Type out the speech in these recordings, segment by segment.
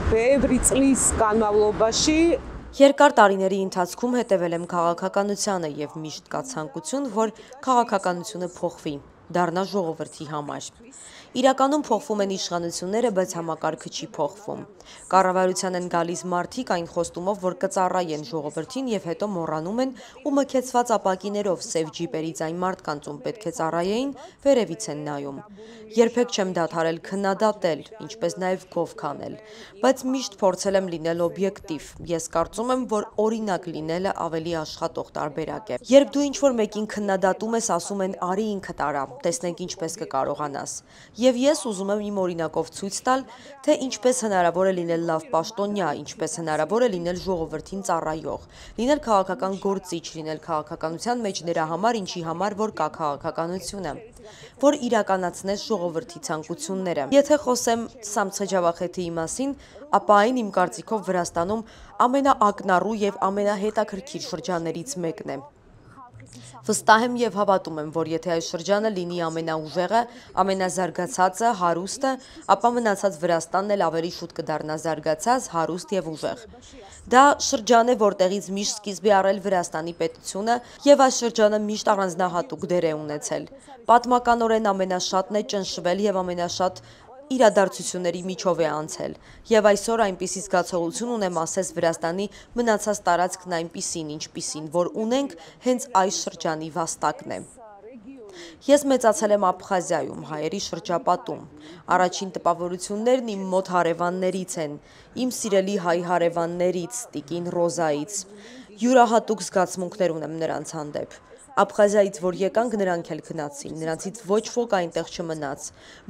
ბევრი წლის განმავლობაში Երկար տարիների ընթացքում հետևել եմ քաղաքականությանը եւ միշտ կա ցանկություն, որ քաղաքականությունը փոխվի, դառնա ժողովրդի համար։ Իրականում փոխվում են իշխանությունները, բայց համակարգը չի փոխվում։ Կառավարության են գալիս մարդիկ այն խոստումով, որ կծառայեն ժողովրդին եւ հետո մոռանում են ու մքեցված ապակիներով սև ջիպերից այն մարդկանց, ում պետք է ծառայեին, վերևից են նայում։ Երբեք չեմ դադարել քննադատել, ինչպես նաև գով քանել, բայց միշտ փորձել եմ լինել օբյեկտիվ։ Ես կարծում եմ, որ օրինակ լինելը ավելի աշխատող տարբերակ է։ Երբ դու ինչ-որ մեկին քննադատում ես, ասում են՝ արի ինքդ արա, տեսնենք ինչպես կկարողանաս։ Եվ ես ուզում եմ իմ օրինակով ցույց տալ, թե ինչպես հնարավոր է լինել լավ պաշտոնյա, ինչպես հնարավոր է լինել ժողովրդին ծառայող, լինել քաղաքական գործիչ, լինել քաղաքականության մեջ նրա համար, ինչի համար որ կա քաղաքականությունը, որ իրականացնես ժողովրդի ցանկությունները։ Եթե խոսեմ Սամցե Ջավախեթիի մասին, ապա այն իմ կարծիքով Վրաստանում ամենաակնառու եւ ամենահետաքրքիր շրջաններից մեկն է։ Վստահ եմ եւ հավատում եմ, որ եթե այս շրջանը լինի ամենաուժեղը, ամենազարգացածը, հարուստը, ապա մնացած Վրաստանն էլ ավելի շուտ կդառնա զարգացած, հարուստ եւ ուժեղ։ Դա շրջան է, որտեղից միշտ սկիզբ է առել Վրաստանի պետությունը եւ այս շրջանը միշտ առանձնահատուկ դեր է ունեցել։ Պատմականորեն ամենաշատն է ճնշվել եւ ամենաշատ իրադարձությունների միջով է անցել, եւ այսօր այնպիսի զգացողություն ունեմ, ասես Վրաստանի մնացած տարածքն այնպիսին, ինչպիսին, որ ունենք, հենց այս շրջանի վաստակն է։ Ես մեծացել եմ Աբխազիայում, հայերի շրջապատում։ Առաջին տպավորություններն իմ մոտ հարևաններից են, իմ սիրելի հայ հարևաններից, տիկին Ռոզայից։ Յուրահատուկ զգացմունքներ ունեմ նրանց հանդեպ։ Աբխազիայից որ եկանք, նրանք էլ գնացին, նրանցից ոչ ոք այնտեղ չմնաց։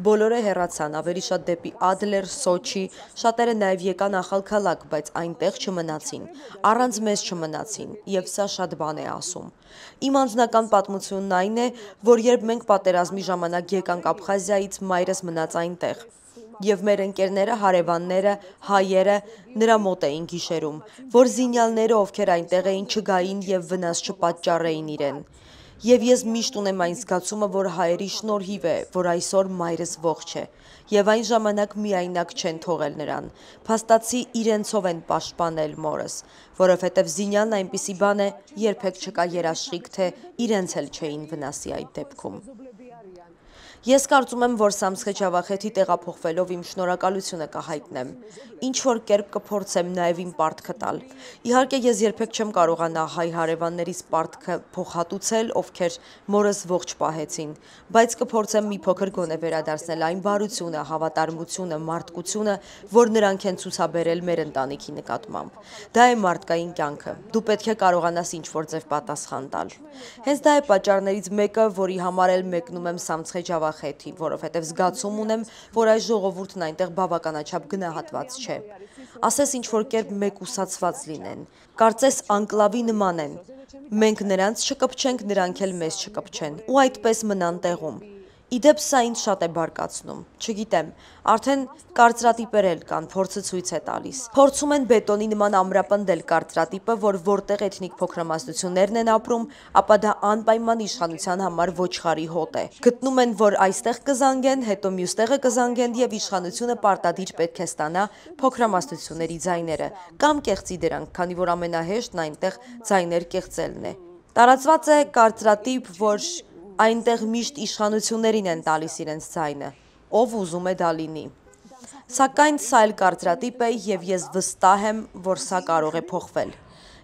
Բոլորը հեռացան, ավելի շատ դեպի Ադլեր, Սոչի, շատերը նաև եկան Ախալքալակ, բայց այնտեղ չմնացին, առանց մեզ չմնացին, եւ սա շատ բան է ասում։ Իմ անձնական պատմությունն այն է, որ երբ մենք պատերազմի ժամանակ եկանք Աբխազիայից, մայրս մնաց այնտեղ։ Եվ մեր ընկերները, հարևանները, հայերը նրա մոտ էին գիշերում, որ զինյալները, ովքեր այնտեղ էին, չգային եւ վնաս չպատճառեին իրեն։ Եվ ես միշտ ունեմ այն զգացումը, որ հայերի շնորհիվ է, որ այսօր մայրս ողջ է, եւ այն ժամանակ միայնակ չեն թողել նրան, փաստացի իրենցով են պաշտպանել մորս, որովհետեւ զինյալն այնպիսի բան է, երբեք չկա երաշխիք, թե իրենց էլ չէին վնասի այդ դեպքում։ Ես կարծում եմ, որ Սամցե Ջավախեթի տեղափոխվելով իմ շնորհակալությունը կհայտնեմ, ինչ-որ կերպ կփորձեմ նաև իմ պարտքը տալ։ Իհարկե ես երբեք չեմ կարողանա հայ հարևաններիս պարտքը փոխհատուցել, ովքեր մորս ողջ պահեցին, բայց կփորձեմ մի փոքր գոնե վերադարձնել այն բարությունը, հավատարմությունը, մարդկությունը, որ նրանք են ցուցաբերել մեր ընտանիքի նկատմամբ։ Դա է մարդկային կյանքը։ Դու պետք է կարողանաս ինչ-որ ձև պատասխան տալ։ Հենց դա է պատճառներից մեկը, որի համար էլ մեկնում եմ Սամցե Ջավախեթի, որովհետև զգացում ունեմ, որ այս ժողովուրդն այնտեղ բավականաչափ գնահատված չէ։ Ասես ինչ-որ կերպ մեկուսացված լինեն, կարծես անկլավի նման են։ Մենք նրանց չկպչենք, նրանք էլ մեզ չկպչեն, ու այդպես մնան տեղում։ Իդեպ սա ինձ շատ է բարկացնում, չգիտեմ, արդեն կարծրատիպեր էլ կան, փորձը ցույց է տալիս։ Փորձում են բետոնի նման ամրապնդել կարծրատիպը, որ որտեղ էթնիկ փոքրամասնություններն են ապրում, ապա դա անպայման իշխանության համար ոչխարի հոտ է։ Գտնում են, որ այստեղ կզանգեն, հետո մյուս տեղը կզանգեն եւ իշխանությունը պարտադիր պետք է ստանա փոքրամասնությունների ձայները, կամ կեղծի դրանք, քանի որ ամենահեշտն այնտեղ ձայներ կեղծելն է։ Տարածված է կարծրատիպ, որ այնտեղ միշտ իշխանություններին են տալիս իրենց ձայնը, ով ուզում է դա լինի։ Սակայն սա էլ կարծրատիպ է եւ ես վստահ եմ, որ սա կարող է փոխվել։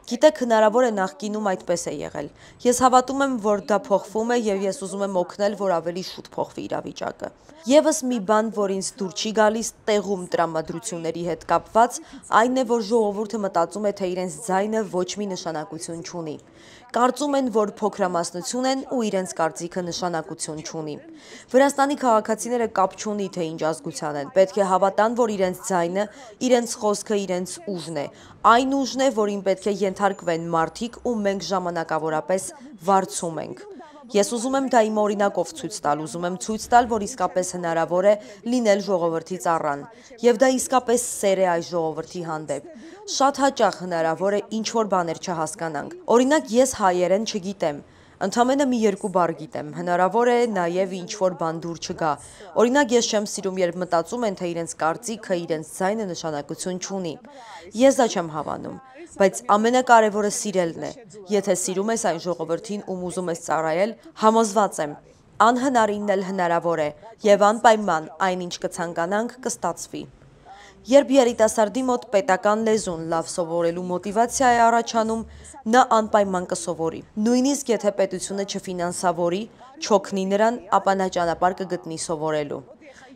Գիտեք, հնարավոր է նախկինում այդպես է եղել։ Ես հավատում եմ, որ դա փոխվում է եւ ես ուզում եմ օգնել, որ ավելի շուտ փոխվի իրավիճակը։ Եվս մի բան, որ ինձ դուր չի գալիս տեղում տրամադրությունների հետ կապված, այն է, որ ժողովուրդը մտածում է, թե իրենց ձայնը ոչ մի նշանակություն չունի։ Կարծում են, որ փոքրամասնություն են ու իրենց կարծիքը նշանակություն չունի։ Վրաստանի քաղաքացիները կապ չունի, թե ինչ ազգության են, պետք է հավատան, որ իրենց ձայնը, իրենց խոսքը, իրենց ուժն է, այն ուժն է, որին պետք է ենթարկվեն մարդիկ ու մենք ժամանակավորապես վարձում ենք։ Ես ուզում եմ դա իմ օրինակով ցույց տալ, ուզում եմ ցույց տալ, որ իսկապես հնարավոր է լինել ժողովրդի ծառան, եւ դա իսկապես սեր է այս ժողովրդի հանդեպ։ Շատ հաճախ հնարավոր է ինչ-որ բաներ չհասկանանք։ Օրինակ, ես հայերեն չգիտեմ, Ընդամենը մի երկու բառ գիտեմ, հնարավոր է նաև ինչ-որ բան դուր չգա։ Օրինակ ես չեմ սիրում, երբ մտածում են, թե իրենց կարծիքը, իրենց ձայնը նշանակություն չունի։ Ես դա չեմ հավանում, բայց ամենակարևորը սիրելն է։ Եթե սիրում ես այն ժողովրդին, ում ուզում ես ծառայել, համոզված եմ, անհնարինն էլ հնարավոր է, եւ անպայման այնինչ կցանկանանք կստացվի։ Երբ երիտասարդի մոտ պետական լեզուն լավ սովորելու մոտիվացիա է առաջանում, նա անպայման կսովորի։ Նույնիսկ եթե պետությունը չֆինանսավորի, չօգնի նրան, ապա նա ճանապարհ կգտնի սովորելու։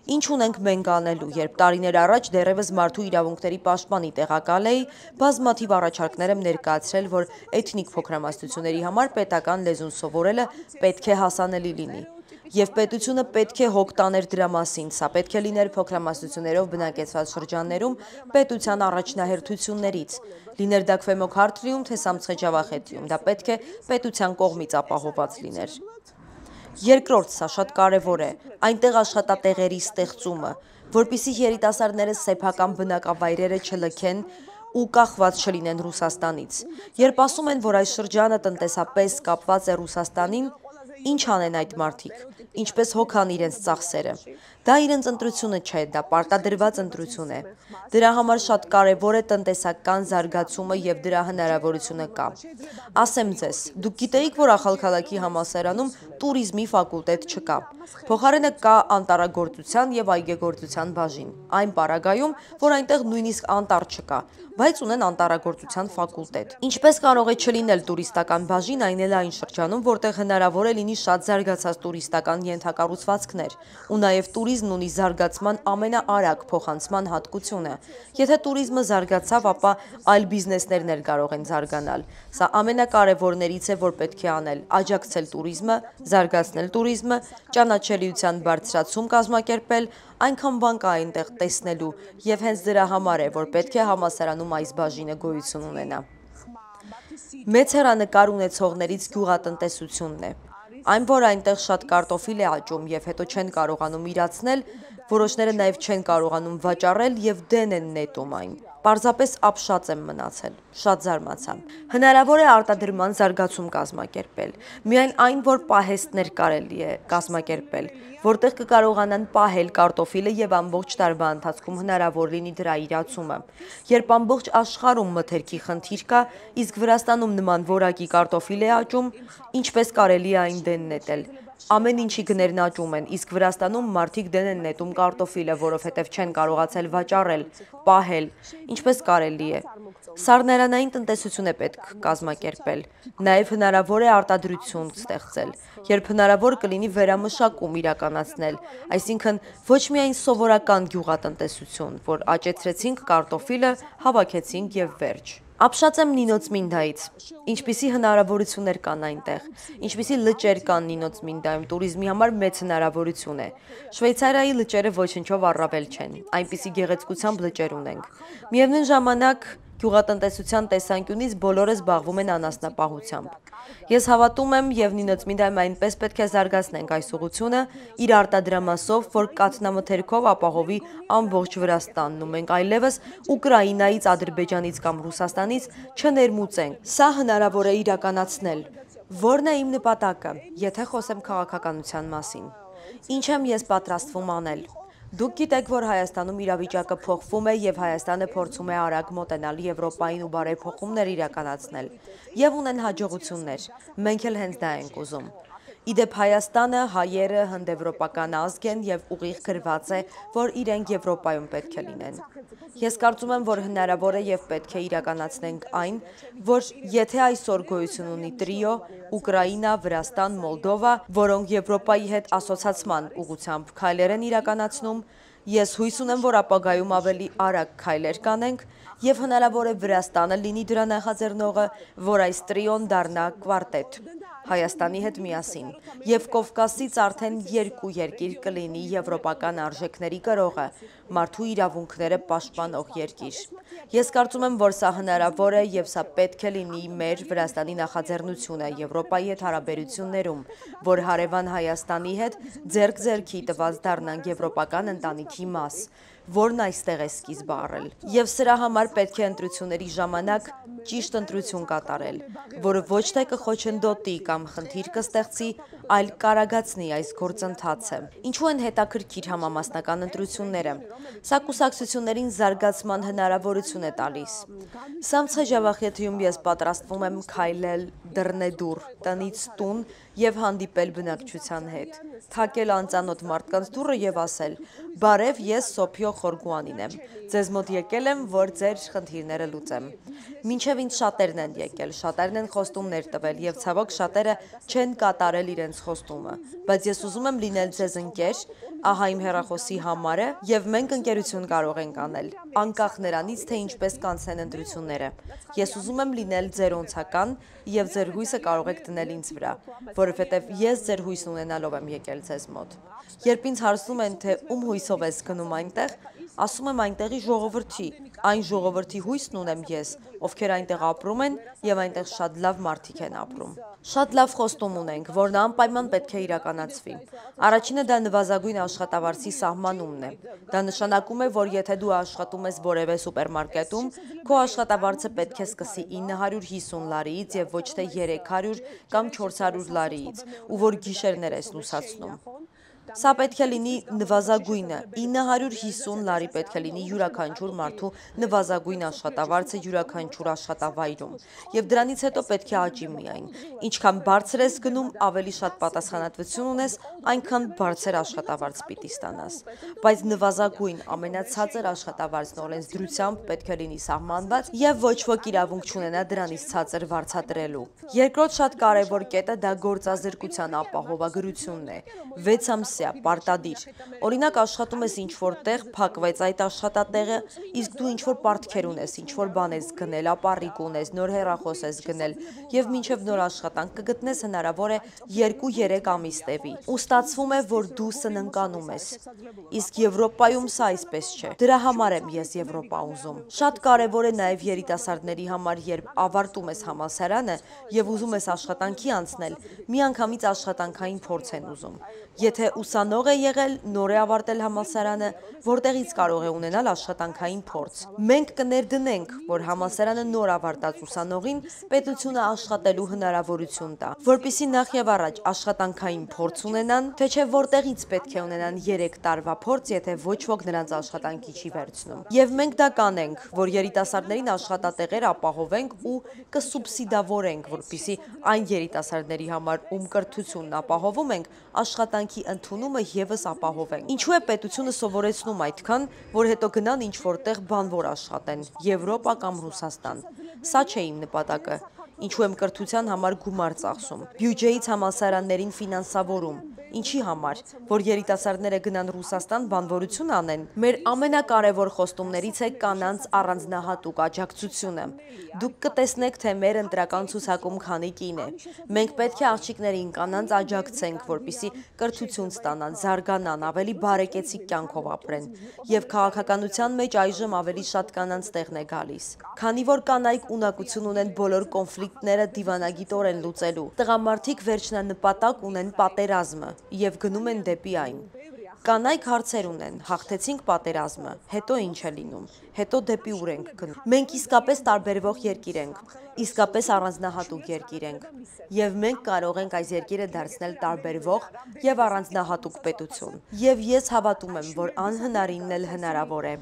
Ինչ ունենք մենք անելու, երբ տարիներ առաջ դեռևս մարդու իրավունքների պաշտպանի տեղակալ էի, բազմաթիվ առաջարկներ եմ ներկայացրել, որ էթնիկ փոքրամասնությունների համար պետական լեզուն սովորելը պետք է հասանելի լինի։ Եվ պետությունը պետք է հոգ տաներ դրա մասին, սա պետք է լիներ փոքրամասնություններով բնակեցված շրջաններում պետության առաջնահերթություններից, լիներ դա Քվեմոք Հարթրիում, թե Սամցխե-Ջավախեթիում, դա պետք է պետության կողմից ապահովված լիներ։ Երկրորդ, սա շատ կարևոր է, այնտեղ աշխատատեղերի ստեղծումը, որպեսզի երիտասարդները սեփական բնակավայրերը չլքեն ու կախված չլինեն Ռուսաստանից։ Երբ ասում են, որ այս շրջանը տնտեսապես կապված է Ռուսաստանին, ինչ անեն այդ մարդիկ, ինչպես հոգան իրենց ծախսերը։ Դա իրենց ընտրությունը չէ, դա պարտադրված ընտրություն է։ Դրա համար շատ կարևոր է տնտեսական զարգացումը եւ դրա հնարավորությունը կա։ Ասեմ ձեզ, դուք գիտեիք, որ Ախալքալաքի համալսարանում տուրիզմի ֆակուլտետ չկա։ Փոխարենը կա անտառագործության եւ այգեգործության բաժին։ Այն պարագայում, որ այնտեղ նույնիսկ անտառ չկա, բայց ունեն անտառագործության ֆակուլտետ։ Ինչպես կարող է չլինել տուրիստական բաժին, այն էլ այն շրջանում, որտեղ հնարավոր է լինի շատ զարգացած տուրիստական ենթակառուցվածքներ, ու նաև տուրիզմն ունի զարգացման ամենաարագ փոխանցման հատկությունը։ Եթե տուրիզմը զարգացավ, ապա այլ բիզնեսներն էլ կարող են զարգանալ։ Սա ամենակարևորներից է, որ պետք է անել՝ աջակցել տուրիզմը, զարգացնել տուրիզմը, ճանաչելիության բարձրացում կազմակերպել, այնքան բան կա այնտեղ տեսնելու, եւ հենց դրա համար է, որ պետք է համալսարանում այս բաժինը գոյություն ունենա։ Մեծ հեռանկար ունեցողներից գյուղատնտեսությունն է։ Այն, որ այնտեղ շատ կարտոֆիլ է աճում եւ հետո չեն կարողանում իրացնել, որոշները նաև չեն կարողանում վաճառել եւ դեն են նետում այն։ Պարզապես ապշած եմ մնացել, շատ զարմացա։ Հնարավոր է արտադրման զարգացում կազմակերպել։ Միայն այն, որ պահեստներ կարելի է կազմակերպել, որտեղ կկարողանան պահել կարտոֆիլը եւ ամբողջ տարվա ընթացքում հնարավոր լինի դրա իրացումը։ Երբ ամբողջ աշխարհում մթերքի խնդիր կա, իսկ Վրաստանում նման որակի կարտոֆիլ է աճում, ինչպես կարելի է այն դեն նետել։ Ամեն ինչի գներն աճում են, իսկ Վրաստանում մարդիկ դեն են նետում կարտոֆիլը, որովհետև չեն կարողացել վաճառել, պահել, ինչպես կարելի է։ Սառնարանային տնտեսություն է պետք կազմակերպել, նաև հնարավոր է արտադրություն ստեղծել, երբ հնարավոր կլինի վերամշակում իրականացնել, այսինքն ոչ միայն սովորական գյուղատնտեսություն, որ աճեցրեցինք կարտոֆիլը, հավաքեցինք եւ վերջ։ Ապշած եմ Նինոց Մինդայից, ինչպիսի հնարավորություններ կան այնտեղ, ինչպիսի լճեր կան Նինոց Մինդայում, տուրիզմի համար մեծ հնարավորություն է։ Շվեյցարիայի լճերը ոչնչով առավել չեն, այնպիսի գեղեցկությամբ լճեր ունենք։ Միևնույն ժամանակ գյուղատնտեսության տեսանկյունից բոլորը զբաղվում են անասնապահությամբ։ Ես հավատում եմ եւ Նինոց Մինդայում այնպես պետք է զարգացնենք այս ուղղությունը իր արտադրամասով, որ կաթնամթերքով ապահովի ամբողջ Վրաստանն ու մենք այլևս Ուկրաինայից, Ադրբեջանից կամ Ռուսաստանից չներմուծենք։ Սա հնարավոր է իրականացնել։ Որն է իմ նպատակը, եթե խոսեմ քաղաքականության մասին։ Ինչ եմ ես պատրաստվում անել։ Դուք գիտեք, որ Հայաստանում իրավիճակը փոխվում է եւ Հայաստանը փորձում է արագ մոտենալ Եվրոպային ու բարեփոխումներ իրականացնել եւ ունեն հաջողություններ։ Մենք էլ հենց դա ենք ուզում։ Իդեպ Հայաստանը, հայերը հնդեվրոպական ազգ են եւ ուղիղ գրված է, որ իրենք Եվրոպայում պետք է լինեն։ Ես կարծում եմ, որ հնարավոր է եւ պետք է իրականացնենք այն, որ եթե այսօր գոյություն ունի տրիո, Ուկրաինա, Վրաստան, Մոլդովա, որոնք Եվրոպայի հետ ասոցացման ուղղությամբ քայլեր են իրականացնում, ես հույս ունեմ, որ ապագայում ավելի արագ քայլեր կանենք եւ հնարավոր է Վրաստանը լինի դրա նախաձեռնողը, որ այս տրիոն դառնա կվարտետ Հայաստանի հետ միասին եւ Կովկասից արդեն երկու երկիր կլինի եվրոպական արժեքների կրողը, մարդու իրավունքները պաշտպանող երկիր։ Ես կարծում եմ, որ սա հնարավոր է եւ սա պետք է լինի մեր Վրաստանի նախաձեռնությունը Եվրոպայի հետ հարաբերություններում, որ հարևան Հայաստանի հետ ձեռք ձեռքի տված դառնանք եվրոպական ընտանիքի մաս, որն այստեղ է սկիզբը առել։ Եվ սրա համար պետք է ընտրությունների ժամանակ ճիշտ ընտրություն կատարել, որը ոչ թե կխոչընդոտի կամ խնդիր կստեղծի, այլ կարագացնի այս գործընթացը։ Ինչու են հետաքրքիր համամասնական ընտրությունները։ Սա կուսակցություններին զարգացման հնարավորություն է տալիս։ Սամցխեջավախեթիում ես պատրաստվում եմ քայլել դռնեդուռ, տնից տուն եւ հանդիպել բնակչության հետ, թակել անծանոթ մարդկանց դուռը եւ ասել. «Բարև, ես Սոփյո Խորգուանին եմ։ Ձեզ մոտ եկել եմ, որ ձեր խնդիրները լուծեմ»։ Մինչև ինձ շատերն են եկել, շատերն են խոստումներ տվել եւ ցավոք շատերը չեն կատարել իրենց խոստումը, բայց ես ուզում եմ լինել ձեզ ընկեր, ահա իմ հեռախոսի համարը եւ մենք ընկերություն կարող ենք անել, անկախ նրանից, թե ինչպես կանցնեն ընտրությունները։ Ես ուզում եմ լինել ձեր օնցական եւ ձեր հույսը կարող եք դնել ինձ վրա, որովհետեւ ես ձեր հույսն ունենալով եմ եկել ձեզ մոտ։ Երբ ինձ հարցնում են, թե ում հույսով ես գնում այնտեղ, ասում եմ այնտեղի ժողովրդի, այն ժողովրդի հույսն ունեմ ես, ովքեր այնտեղ ապրում են եւ այնտեղ շատ լավ մարդիկ են ապրում։ Շատ լավ խոստում ունենք, որն անպայման պետք է իրականացվի։ Առաջինը դա նվազագույն աշխատավարձի սահմանումն է։ Դա նշանակում է, որ եթե դու աշխատում ես որևէ սուպերմարկետում, քո աշխատավարձը պետք է սկսի 950 լարիից եւ ոչ թե 300 կամ 400 լարիից, ու որ գիշերներ ես լուսացնում։ Սա պետք է լինի նվազագույնը, 950 լարի պետք է լինի յուրաքանչյուր մարդու նվազագույն աշխատավարձը յուրաքանչյուր աշխատավայրում, եւ դրանից հետո պետք է աճի միայն։ Ինչքան բարձր ես գնում, ավելի շատ պատասխանատվություն ունես, այնքան բարձր աշխատավարձ պիտի ստանաս։ Բայց նվազագույն ամենացածր աշխատավարձն օրենսդրությամբ պետք է լինի սահմանված եւ ոչ ոք իրավունք չունենա դրանից ցածր վարձատրելու։ Երկրորդ շատ կարեւոր կետը դա գործազրկության ապահովագրությունն է։ 6 ամսյա պարտադիր։ Օրինակ աշխատում ես ինչ-որ տեղ, փակվեց այդ աշխատատեղը, իսկ դու ինչ-որ պարտքեր ունես, ինչ-որ բան ես գնել, ապառիկ ունես, նոր հեռախոս ես գնել եւ մինչեւ նոր աշխատանք կգտնես հնարավոր է 2-3 ամիս տևի։ Ու ստացվում է, որ դու սնանկանում ես։ Իսկ Եվրոպայում սա այսպես չէ։ Դրա համար եմ ես Եվրոպա ուզում։ Շատ կարեւոր է նաեւ երիտասարդների համար, երբ ավարտում ես համալսարանը եւ ուզում ես աշխատանքի անցնել, միանգամից աշխատանքային փորձ են ուզում։ Եթե ուսանող է եղել, նոր է ավարտել համալսարանը, որտեղից կարող է ունենալ աշխատանքային փորձ։ Մենք կներդնենք, որ համալսարանը նոր ավարտած ուսանողին պետությունը աշխատելու հնարավորություն տա, որպեսզի նախ եւ առաջ աշխատանքային փորձ ունենան, թե չէ որտեղից պետք է ունենան 3 տարվա փորձ, եթե ոչ ոք նրանց աշխատանքի չի վերցնում։ Եվ մենք դա կանենք, որ երիտասարդներին աշխատատեղեր ապահովենք ու կսուբսիդավորենք, որպեսզի այն երիտասարդների համար, ում կրթությունն ապահովում ենք, աշխատանքի ընդունումը եւս ապահովենք։ Ինչու է պետությունը սովորեցնում այդքան, որ հետո գնան ինչ-որտեղ բանվոր աշխատեն, Եվրոպա կամ Ռուսաստան։ Սա չէ իմ նպատակը։ Ինչու եմ կրթության համար գումար ծախսում, բյուջեից համալսարաններին ֆինանսավորում։ Ինչի համար, որ երիտասարդները գնան Ռուսաստան բանվորություն անեն։ Մեր ամենակարևոր խոստումներից է կանանց առանձնահատուկ աջակցությունը։ Դուք կտեսնեք, թե մեր ընտրական ցուցակում քանի կին է։ Մենք պետք է աղջիկներին կանանց աջակցենք, որպեսզի կրթություն ստանան, զարգանան, ավելի բարեկեցիկ կյանքով ապրեն։ Եվ քաղաքականության մեջ այժմ ավելի շատ կանանց տեղն է գալիս։ Քանի որ կանայք ունակություն ունեն բոլոր կոնֆլիկտները դիվանագիտորեն լուծելու, տղամարդիկ վերջնանպատակ ունեն պատերազմը եւ գնում են դեպի այն։ Կանայք հարցեր ունեն, հաղթեցինք պատերազմը, հետո ինչ է լինում, հետո դեպի ուր ենք գնում։ Մենք իսկապես տարբերվող երկիր ենք, իսկապես առանձնահատուկ երկիր ենք, եւ մենք կարող ենք այս երկիրը դարձնել տարբերվող եւ առանձնահատուկ պետություն։ Եվ ես հավատում եմ, որ անհնարինն էլ հնարավոր է։